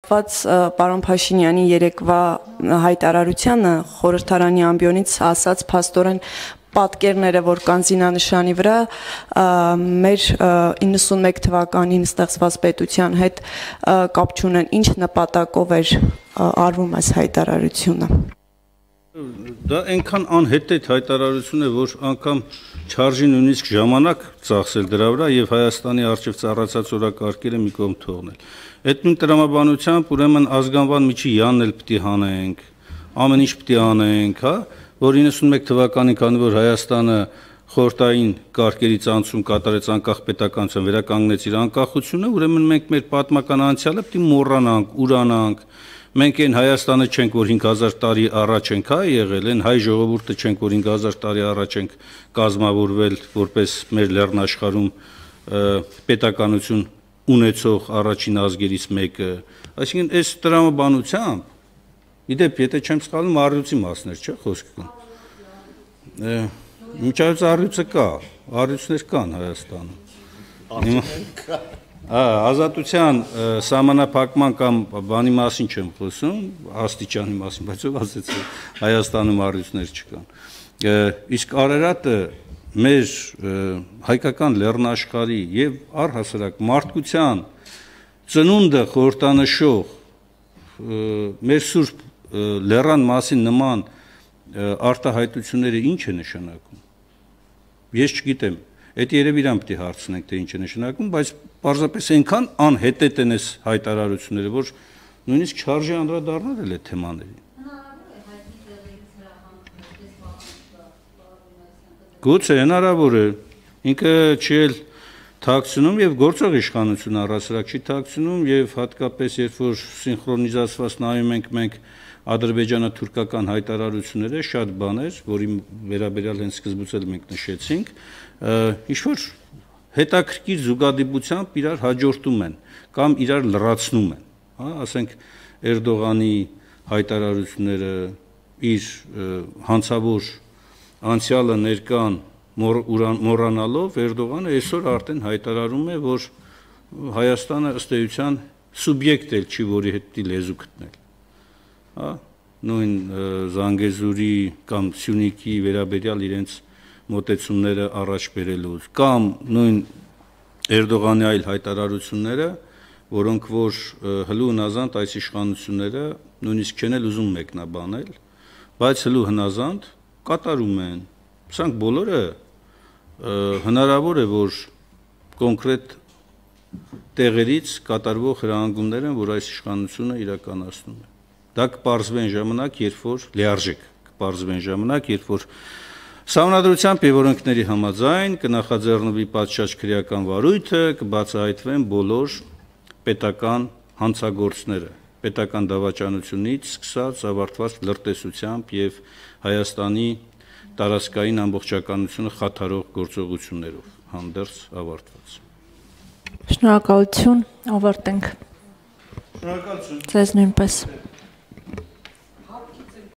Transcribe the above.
կապված պարոն Փաշինյանի երեկվա հայտարարությանը խորհրդարանի ամբիոնից ասած փաստորեն պատկերները, որ կան զինանշանի վրա, մեր 91 թվականին ստեղծված պետության հետ կապ չունեն, ինչ նպատակով էր արվում այս հայտարարությունը։ Դա այնքան անհետեթ հայտարարություն է, որ անգամ չարժի նույնիսկ ժամանակ ծախսել դրա վրա եւ Հայաստանի արժեվ ծառացած օրակարգերը մի կողմ թողնել։ Այդ նույն տրամաբանությամբ ուրեմն ազգանվան միջի յանն էլ պիտի հանենք, ամեն ինչ պիտի անենք, հա, որ 91 թվականին, քանի որ Հայաստանը խորհրդային կարգերից անցում կատարեց անկախ պետականության, վերականգնեց իր անկախությունը, ուրեմն մենք մեր պատմական անցյալը պիտի մոռանանք, ուրանանք։ Մենք այն Հայաստանը չենք, որ 5000 տարի առաջ ենք եղել, այն հայ ժողովուրդը չենք, որ 5000 տարի առաջ ենք կազմավորվել որպես մեր լեռնաշխարհում պետականություն ունեցող առաջին ազգերից մեկը։ Այսինքն այս տրամաբանությամբ, իդեպ, եթե չեմ սխալվում, առյուծի մասներ, չէ՞ խոսքը։ Միջայց առյուծը կա, առյուծներ կան Հայաստանում։ Ազատության սահմանափակման կամ բանի մասին չեմ խոսում, աստիճանի մասին, բայց ով ասեց Հայաստանում առյուծներ չկան։ Իսկ Արարատը մեր հայկական լեռնաշխարհի եւ առհասարակ մարդկության ծնունդը խորհրդանշող մեր սուրբ լեռան մասին նման արտահայտությունները ինչ է նշանակում։ Ես չգիտեմ, այդ երևի իրան պիտի հարցնենք, թե ինչ է նշանակում, բայց պարզապես այնքան անհետեթ են այս հայտարարությունները, որ նույնիսկ չարժի անդրադառնալ էլ այդ թեմաներին։ Գուցե հնարավոր է, ինքը չի էլ թաքցնում եւ գործող իշխանություն առհասարակ չի թաքցնում եւ հատկապես երբ որ սինխրոնիզացված նայում ենք մենք ադրբեջանա-թուրքական հայտարարությունները, շատ բաներ, որի վերաբերյալ հենց սկզբից էլ մենք նշեցինք, ինչ որ հետաքրքիր զուգադիպությամբ իրար հաջորդում են կամ իրար լրացնում են, հա, ասենք Էրդողանի հայտարարությունները իր հանցավոր անցյալը ներկան մոռանալով Էրդողանը այսօր արդեն հայտարարում է, որ Հայաստանը ըստ էության սուբյեկտ էլ չի, որի հետ պիտի լեզու գտնել։ Հա, նույն Զանգեզուրի կամ Սյունիքի վերաբերյալ իրենց մոտեցումները առաջ բերելուց, կամ նույն Էրդողանի այլ հայտարարությունները, որոնք որ հլու հնազանդ այս իշխանությունները նույնիսկ չեն էլ ուզում մեկնաբանել, բայց հլու հնազանդ կատարում են։ Սրանք բոլորը հնարավոր է, որ կոնկրետ տեղերից կատարվող հրահանգումներ են, որ այս իշխանությունը իրականացնում է։ Դա կպարզվեն ժամանակ, երբ որ լիարժեք կպարզվեն ժամանակ, երբ որ Սահմանադրությամբ եւ օրենքների համաձայն կնախաձեռնվի պատշաճ քրեական վարույթը, կբացահայտվեն բոլոր պետական հանցագործները, պետական դավաճանությունից սկսած ավարտված լրտեսությամբ եւ Հայաստանի տարածքային ամբողջականությունը խաթարող գործողություններով հանդերձ ավարտված։ Շնորհակալություն, ավարտենք։ Շնորհակալություն։ Ձեզ նույնպես։